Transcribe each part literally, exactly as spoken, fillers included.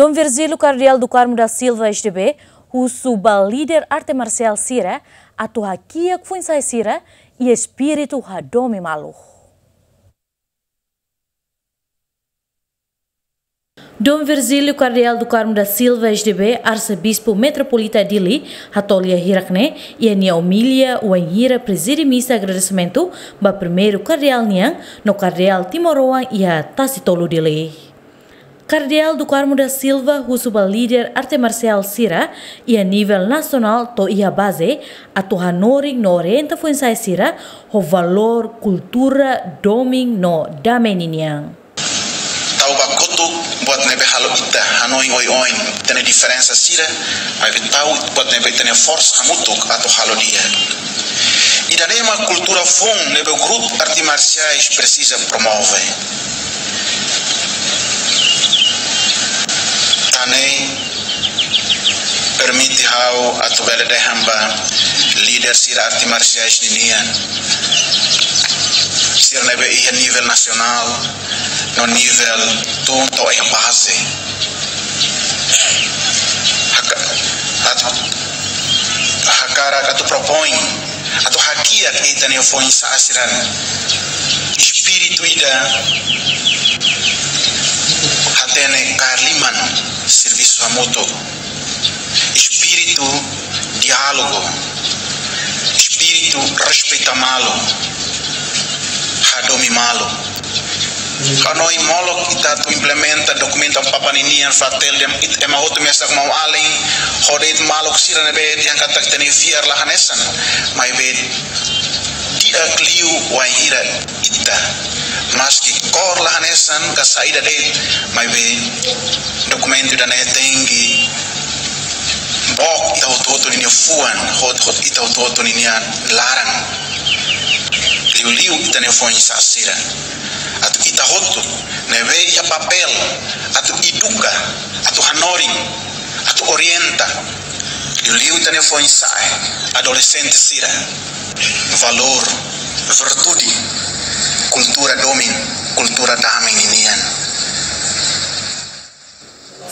Dom Virgílio Kardeál do Carmo da Silva, S D B, husu ba líder arte marsiál sira atu hakiak foin-sa'e sira iha espíritu hadomi malu. Dom Virgílio Kardeál do Carmo da Silva, S D B, Arsebispu Metropolita Dili, hato'o lia hirak-ne'e iha nia omilia wainhira prezide misa agradesimentu ba primeiru kardeál nian no kardeál timoroan iha Tasitolu, Dili. Kardeál do Carmo da Silva husu ba líder arte marsiál sira iha nivel nasionál to'o iha baze atu hanorin no orienta foin-sa'e sira ho valór kultura domin no dame ninian. Tau ba kotuk buat ne'ebé halo ita hanoin oioin, ita-nia diferensa sira, maibé tau buat ne'ebé ita-nia forsa hamutuk atu halo di'ak. Ida-ne'e mak kultura foun ne'ebé grupu arte marsiais presiza promove. Tan ne'e permite ha'u atu bele dehan ba líder sira arte marsiais ninian, sira ne'ebé iha nivel nasionál no nivel tun to'o iha baze. Haka-, atu, hakarak atu propoin, atu hakiak ita-nia foin-sa'e sira-nia espíritu ida hatene kaer liman, servisu hamutuk, espíritu diálogu, espíritu respeita malu, hadomi malu. Ha'u hanoin molok ita atu implementa dokumentu Amu Papa ninian, Fratelli, ita ema hotu mesak maun-alin, hodi ita maluk sira ne'ebé dehan katak ita-nia fiar la hanesan, maibé di'ak liu wainhira ita, maski kór la hanesan ka saida de'it, maibé dokumentu ida-ne'e tenke book ita hotu-hotu ninia fuan, hot-, hot-, ita hotu-hotu ninia laran. Liuliu ita-nia foin-sa'e sira. Atu ita hotu ne'ebé iha papél atu eduka, atu hanorin, atu orienta. Liuliu ita-nia foin-sa'e, adolexente sira, valór, virtude, kultura domin, kultura dame ninian.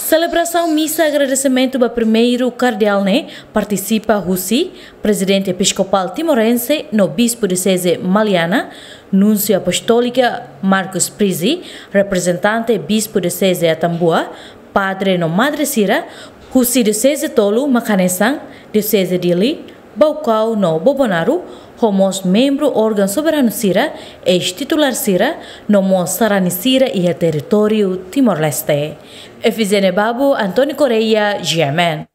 Selebrasaun misa agradesimentu ba primeiru kardeál ne'e partisipa husi Prezidente Episkopál Timorense no Bispu Dioseze Maliana, Núnsiu Apostólika Marcus Prizzi, reprezentante Bispu Dioseze Atambua, padre no madre sira husi dioseze tolu mak hanesan Dioseze Dili, Baucau no Bobonaro, ho mós membru órgaun soberanu sira, eis-titulár sira, no mós sarani sira iha territóriu Timor-Leste. Efizene Babu, António Correia, G M N.